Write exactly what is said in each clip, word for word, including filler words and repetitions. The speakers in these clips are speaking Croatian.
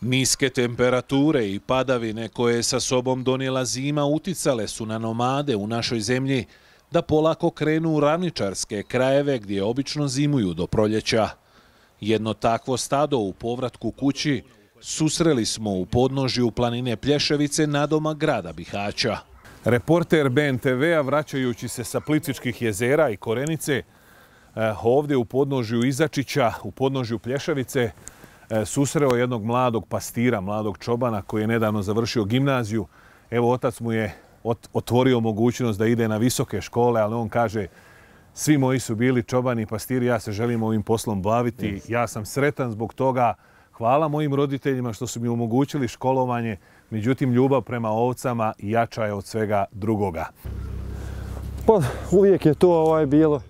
Niske temperature i padavine koje je sa sobom donijela zima uticale su na nomade u našoj zemlji da polako krenu u ravničarske krajeve gdje obično zimuju do proljeća. Jedno takvo stado u povratku kući susreli smo u podnožju planine Plješevice nadomak grada Bihaća. Reporter B N T V-a vraćajući se sa Plitvičkih jezera i Korenice ovdje u podnožju Izačića, u podnožju Plješevice, susreo jednog mladog pastira, mladog čobana koji je nedavno završio gimnaziju. Evo, otac mu je otvorio mogućnost da ide na visoke škole, ali on kaže svi moji su bili čobani i pastiri, ja se želim ovim poslom baviti. Ja sam sretan zbog toga. Hvala mojim roditeljima što su mi omogućili školovanje, međutim ljubav prema ovcama jača je od svega drugoga. Pa uvijek je to ovaj bilo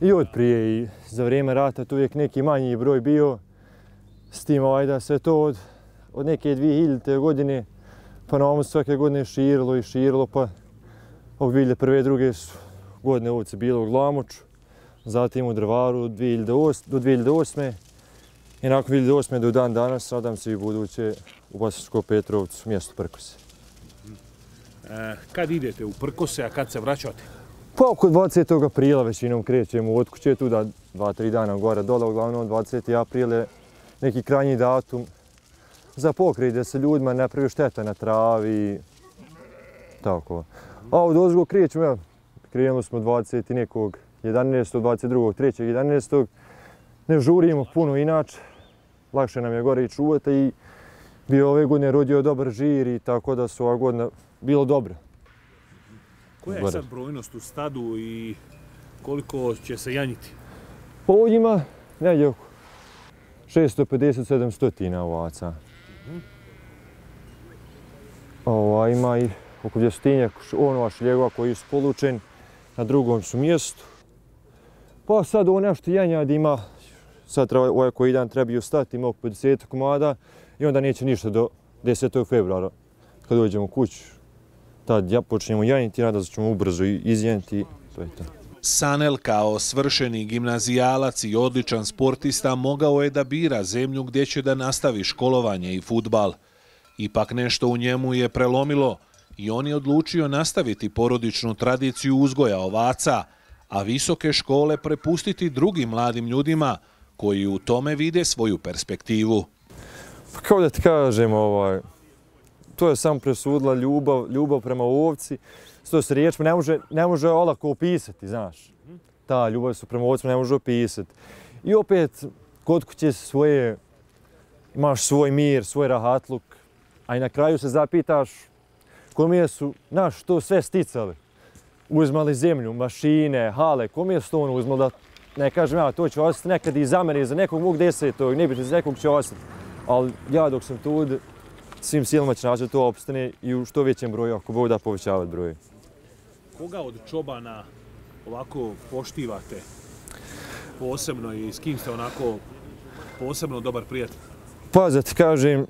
i od prije i za vrijeme rata tu uvijek neki manji broj bio. S tim ovaj da se to od, od neke dvije hiljadite godine pa na ovom svake godine širilo i širilo, pa od dvije hiljade prve. druge godine ovce bilo u Glamoču, zatim u Drvaru do dvije hiljade osme. I nakon dvije hiljade osme do dan danas nadam se i buduće u Bosanskom Petrovcu, mjesto Prkose. E, kad idete u Prkose, a kad se vraćate? Pa oko dvadesetog aprila većinom krećemo od kuće, tu da dva, tri dana gore dole, uglavnom dvadeseti april je neki krajnji datum za pokrij da se ljudima ne pravi šteta na travi. Tako. A od ozgo krećemo, ja, krenuli smo dvadeset nekog jedanaestog, dvadeset drugog trećeg jedanaestog Ne žurimo puno inače, lakše nam je gore i čuvati i bio ove godine rodio dobar žir i tako da su ova godina bilo dobro. Koja je sad brojnost u stadu i koliko će se janjiti? Pa ovdje ima negdje oko šesto pedeset do sedamsto ovaca. Ova, ima i oko dvjestotinjak onova šljegova koji su polučen, na drugom su mjestu. Pa sad ovo nešto janjad ima, sad ovaj koji dan trebaju stati, ima oko pedeset komada i onda neće ništa do desetog februara. Kad dođemo u kuću, tad ja počnemo janjiti, nadam se ćemo ubrzo izjanjiti i to je to. Sanel kao svršeni gimnazijalac i odličan sportista mogao je da bira zemlju gdje će da nastavi školovanje i fudbal. Ipak nešto u njemu je prelomilo i on je odlučio nastaviti porodičnu tradiciju uzgoja ovaca, a visoke škole prepustiti drugim mladim ljudima koji u tome vide svoju perspektivu. Pa kao da ti kažem, ovaj, to je samo presudila ljubav, ljubav prema ovci. To se riječima ne može, ne može olako opisati, znaš. Ta ljubav su prema ovcima ne može opisati. I opet, kod kuće svoje, imaš svoj mir, svoj rahatluk, a i na kraju se zapitaš kome su, znaš, to sve sticali. Uzmali zemlju, mašine, hale, kome su to ono uzmali da, ne kažem ja, to će ostati nekad i za mene, za nekog mog desetog, ne biti za nekog će ostati. Ali ja dok sam tu, svim silama će naći da to opstane i u što većem broju, ako Bog da povećavati broj. Koga od čobana ovako poštivate posebno i s kim ste onako posebno dobar prijatelj? Pa da ti kažem,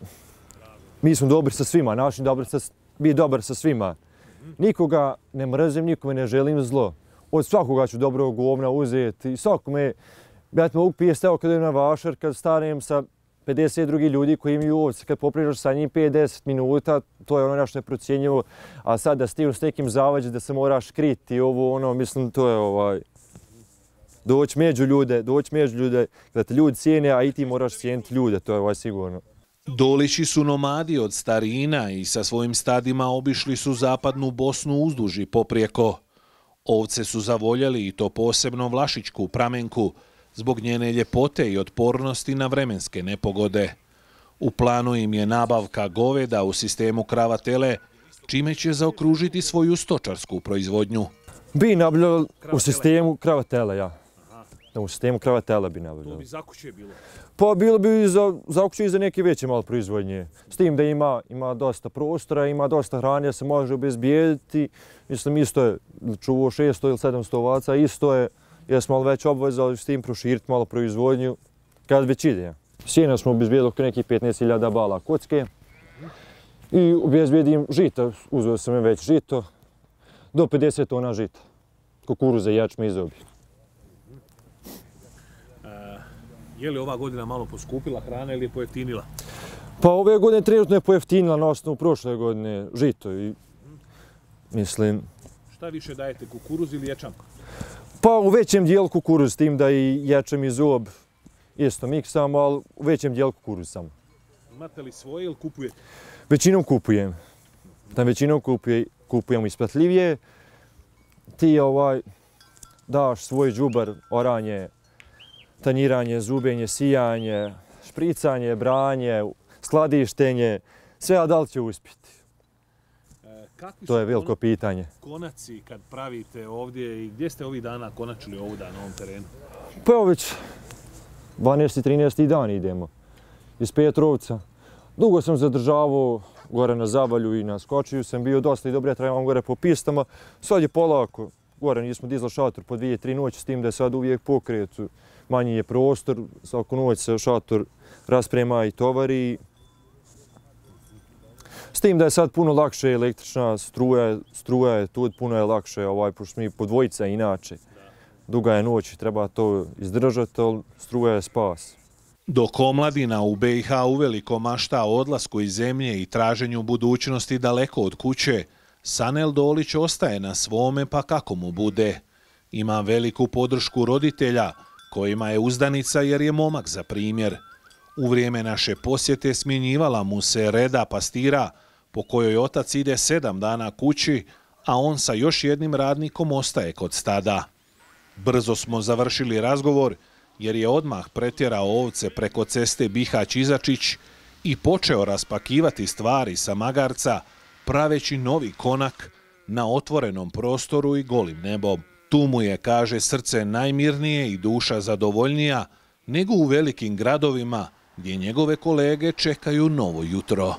mi smo dobri sa svima, način biti dobar sa svima. Nikoga ne mrzim, nikome ne želim zlo. Od svakoga ću dobrog govna uzeti i svakome, ja ti mogu pijesti, evo kad idem na vašar, kad stanem sa pedeset drugih ljudi koji imaju ovce, kad popričaš sa njim pet do deset minuta, to je ono nešto neprocjenjivo, a sad da stignu s nekim zavađe da se moraš kriti, ovo ono, mislim, to je ovaj, doći među ljude, doći među ljude, da te ljudi cijene, a i ti moraš cijeniti ljude, to je ovaj sigurno. Dolići su nomadi od starina i sa svojim stadima obišli su zapadnu Bosnu uzduž i poprijeko. Ovce su zavoljeli i to posebno Vlašićku pramenku, zbog njene ljepote i otpornosti na vremenske nepogode. U planu im je nabavka goveda u sistemu krava-tele, čime će zaokružiti svoju stočarsku proizvodnju. Bi nabavljali u sistemu krava-tele, ja. U sistemu krava-tele bi nabavljali. To bi za kuće bilo? Pa bilo bi za, za kuće i za neke veće malo proizvodnje. S tim da ima, ima dosta prostora, ima dosta hrane, se može obezbijediti. Mislim, isto je čuvo šesto ili sedamsto ovaca, isto je, jesmo malo već obvezali s tim proširiti malo proizvodnju, kad već ide. Sjena smo obezbijedili oko nekih petnaest hiljada bala kocke i obezbijedim žita, uzeo sam već žito, do pedeset tona žita, kukuruza, ječme i zobi. Je li ova godina malo poskupila hrana ili je pojeftinila? Pa ove godine trenutno je pojeftinila na osnovu prošle godine žito i mislim... Šta više dajete, kukuruz ili ječam? Pa u većem dijelu kukuruz, s tim da i ječam i zob isto miksamo, ali u većem dijelu kukuruz samo. Imate li svoje ili kupujete? Većinom kupujem. Tam većinom kupuje, kupujemo isplatljivije. Ti ovaj, daš svoj džubar, oranje, tanjiranje, zubenje, sijanje, špricanje, branje, skladištenje, sve, a da li će uspjeti? Kakvi to je veliko pitanje. Konaci kad pravite ovdje i gdje ste ovih dana konačili ovuda na ovom terenu? Pa evo već dvanaesti trinaesti dan idemo iz Petrovca. Dugo sam zadržavao gore na Zabalju i na Skočiju sam bio dosta i dobro, ja trebam gore po pistama. Sad je polako, gore nismo dizali šator po dvije, tri noći, s tim da je sad uvijek pokret. Manji je prostor, svaku noć se šator rasprema i tovari. S tim da je sad puno lakše električna struja, struja je tu, puno je lakše, ovaj, pošto mi po dvojica inače. Duga je noć, treba to izdržati, ali struja je spas. Dok omladina u be i ha uveliko mašta o odlasku iz zemlje i traženju budućnosti daleko od kuće, Sanel Dolić ostaje na svome pa kako mu bude. Ima veliku podršku roditelja, kojima je uzdanica jer je momak za primjer. U vrijeme naše posjete smjenjivala mu se Reda pastira, po kojoj otac ide sedam dana kući, a on sa još jednim radnikom ostaje kod stada. Brzo smo završili razgovor, jer je odmah pretjerao ovce preko ceste Bihać-Izačić i počeo raspakivati stvari sa magarca, praveći novi konak na otvorenom prostoru i golim nebom. Tu mu je, kaže, srce najmirnije i duša zadovoljnija nego u velikim gradovima, gdje njegove kolege čekaju novo jutro.